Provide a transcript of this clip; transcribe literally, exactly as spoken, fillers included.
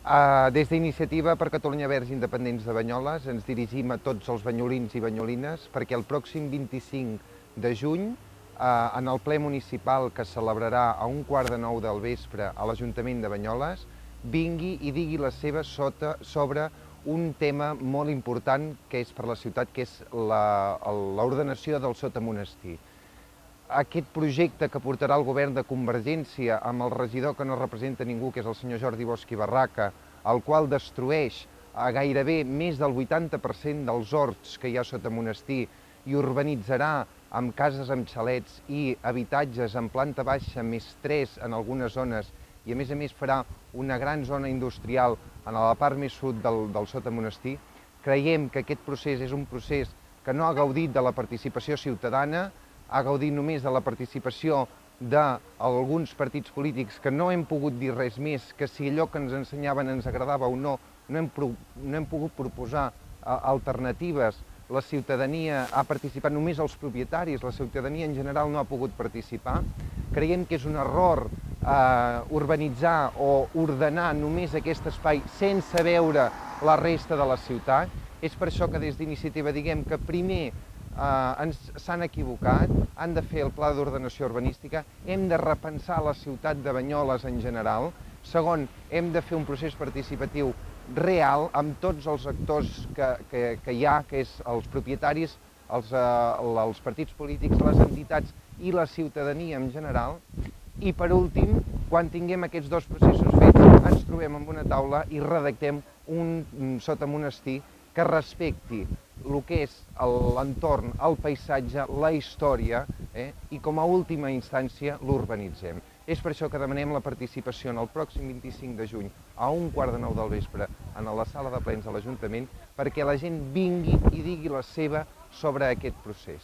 Uh, des d'Iniciativa per Catalunya Verds Independents de Banyoles ens dirigim a tots els banyolins i banyolines perquè el pròxim vint-i-cinc de juny, uh, en el ple municipal que es celebrarà a un quart de nou del vespre a l'Ajuntament de Banyoles, vingui i digui la seva sota sobre un tema molt important que és per la ciutat, que és l'ordenació del sotamonestir. Aquest projecte que portarà el govern de Convergència amb el regidor que no representa ningú, que és el senyor Jordi Bosch i Barraca, el qual destrueix a gairebé més del vuitanta per cent dels horts que hi ha sota monestir i urbanitzarà amb cases amb xalets i habitatges en planta baixa més tres en algunes zones i a més a més farà una gran zona industrial en la part més sud del, del sota monestir. Creiem que aquest procés és un procés que no ha gaudit de la participació ciutadana, ha gaudit només de la participació d'alguns partits polítics que no hem pogut dir res més, que si allò que ens ensenyaven ens agradava o no, no hem, no hem pogut proposar alternatives. La ciutadania ha participat, només els propietaris, la ciutadania en general no ha pogut participar. Creiem que és un error eh, urbanitzar o ordenar només aquest espai sense veure la resta de la ciutat. És per això que des d'Iniciativa diguem que primer Uh, s'han equivocat, han de fer el pla d'ordenació urbanística, hem de repensar la ciutat de Banyoles en general. Segon, hem de fer un procés participatiu real amb tots els actors que, que, que hi ha, que és els propietaris, els, uh, els partits polítics, les entitats i la ciutadania en general. I per últim, quan tinguem aquests dos processos fets, ens trobem amb una taula i redactem un sotamonestir que respecti el que és l'entorn, el paisatge, la història, eh, i com a última instància l'urbanitzem. És per això que demanem la participació en el pròxim vint-i-cinc de juny a un quart de nou del vespre en la sala de plens de l'Ajuntament perquè la gent vingui i digui la seva sobre aquest procés.